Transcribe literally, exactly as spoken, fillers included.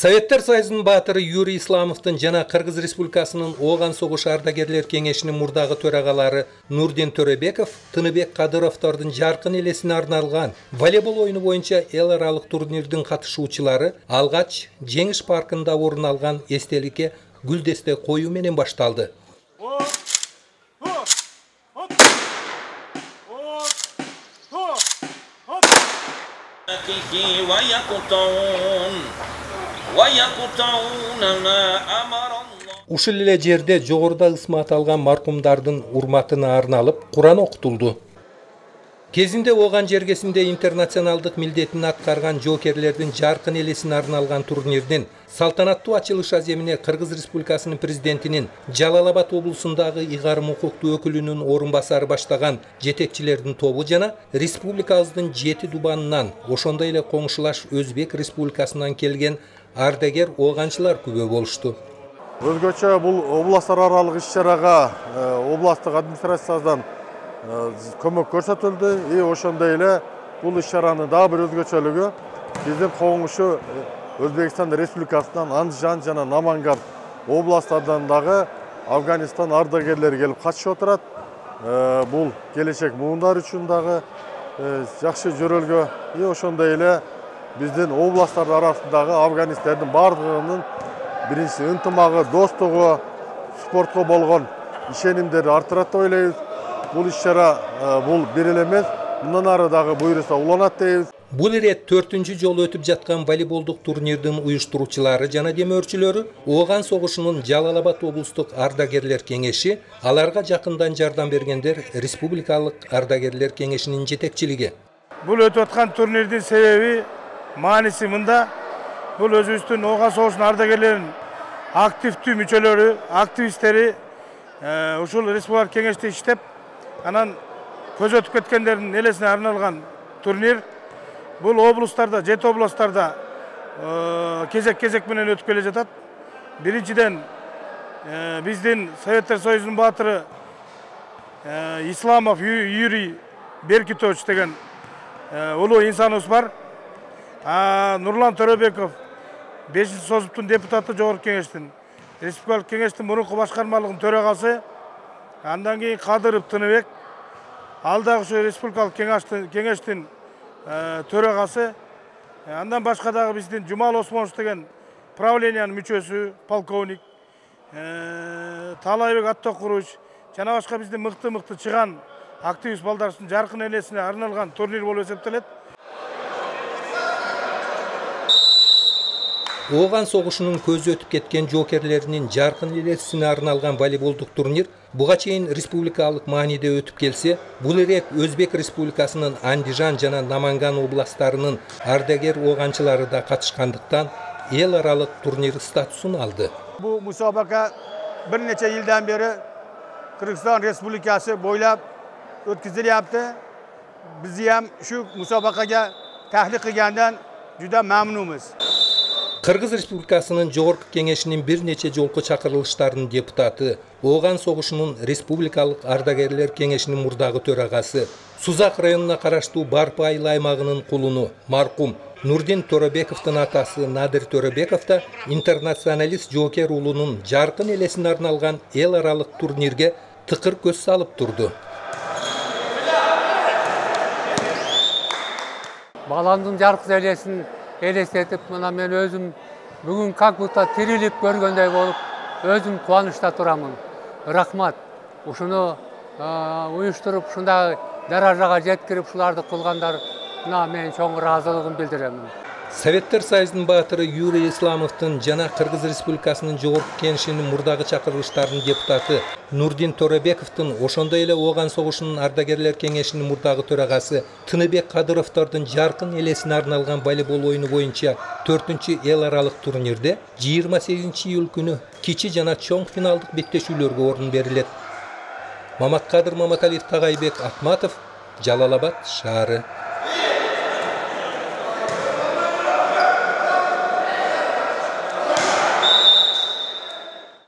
Советтер Союзунун баатыры Юрий Исламовдун жана Кыргыз Республикасынын Ооган согушу ардагерлер кеңешинин мурдагы төрагалары Нурдин Төрөбеков, Тыныбек Кадыровдордун жаркын элесине арналган волейбол оюну боюнча эл аралык турнирдин катышуучулары алгач Жеңиш паркында орун алган эстеликке гүлдесте коюу менен башталды. Ушул эле жерде жогоруда ысма аталган маркумдардын урматына арналып Куран окутулду. Кезинде Ооган жергесинде интернационалдык милдетин аткарган жоокерлердин жаркын элесине арналган турнирдин салтанаттуу ачылыш аземине Кыргыз Республикасынын президентинин Жалал-Абад облусундагы ыйгарым укуктуу өкүлүнүн орун басары баштаган жетекчилердин тобу жана республикабыздын жети дубанынан, ошондой эле коңшулаш Өзбек Республикасынан келген ардагер ооганчылар күбө болушту. Өзгөчө бул областтар аралык иш-чарага областтык администрациядан көмөк көрсөтүлдү. И ошондой эле бул иш-чаранын дагы бир өзгөчөлүгү биздин коңшу Өзбекстан Республикасынан Андижан жана Наманган областтардан дагы Афганистан ардагерлери келип катышып отурат. Бул келечек муундар үчүн дагы жакшы жөрөлгө. И ошондой эле биздин областтар арасындагы афганистердин бардыгынын биринчи ынтымагы, достугу, спортко болгон ишенимдери артырат деп ойлойбуз. Бул иш-чара бул бир эле эмес, мындан ары дагы буйруса уланат дейбиз. Бул ирет төртүнчү жолу өтүп жаткан волейболдук турнирдин уюштуруучулары жана демөөрчүлөрү Ооган согушунун Жалал-Абад облустук ардагерлер кеңеши, аларга жакындан жардам бергендер Республикалык ардагерлер кеңешинин жетекчилиги. Бул өтүп аткан турнирдин себеби, мааниси мында. Бул өзүбүздүн Ооган согушунун ардагерлеринин активдүү мүчөлөрү, активисттери ушул республикалык кеңеште иштеп, анан көз өтүп кеткендердин элесине арналган турнир. Бул облустарда, жети областарда кезек-кезек менен өтүп келе жатат. Биринчиден биздин Советтер Союзунун баатыры Исламов Юрий Беркитович деген улуу инсаныбыз бар. Нурлан Төрөбеков бешинчи созуптун депутаты жогорку кеңештин, республикалык кеңештин мурунку башкармалыгынын төрагасы, андан кийин Кадыров Тыныбек, ал дагы ушу республикалык кеңештин төрагасы, андан башка дагы биздин Жумал Осмонович деген правлениянын мүчөсү, полковник, Талайбек Аттокурович жана башка биздин мыкты-мыкты чыган активист балдарыбыздын жаркын элесине арналган турнир болуп эсептелет. Ооган согушунун көзү өтүп кеткен жоокерлеринин жаркын элесине арналган волейболдук турнир буга чейин республикалык мааниде өтүп келсе, бул ирет Өзбек Республикасынын Андижан жана Наманган областтарынын ардагер ооганчылары да катышкандыктан эл аралык турнир статусун алды. Бул мусабака бир нече жылдан бери Кыргызстан Республикасы бойлап өткөзүлөптү. Биз ham ушу мусабакага тахлик кылгандан juda мамнунбуз. Кыргыз Республикасынын жогорку кеңешинин бир нече жолку чакырылыштарынын депутаты, Ооган согушунун республикалык ардагерлер кеңешинин мурдагы төрагасы, Сузак районуна караштуу Барпы айыл аймагынын кулуну маркум Нурдин Төрөбековдун атасы Надыр Төрөбеков да интернационалист жоокер уулунун жаркын элесине арналган эл аралык турнирге тыкыр көз салып турду. Баламдын жаркын элесин элестетип, мына мен өзүм бүгүн как будто тирилип көргөндөй болуп, өзүм кубанычта турамын. Рахмат. Ушуну уюштуруп, ушундай даражага жеткирип, ушуларды кылгандарына мен чоң ыраазылыгымды билдиремин. Советтер Союзунун баатыры Юрий Исламовдун жана Кыргыз Республикасынын жогорку кеңешинин мурдагы чакырылыштарынын депутаты Нурдин Төрөбековдун, ошондой эле Ооган согушунун ардагерлер кеңешинин мурдагы төрагасы Тыныбек Кадыровдордун жаркын элесине арналган волейбол оюну боюнча төртүнчү эл аралык турнирде жыйырма сегизинчи июль күнү кичи жана чоң финалдык беттешүүлөргө орун берилет. Маматкадыр Маматалиев Тагайбек Акматов, Жалал-Абад шаары.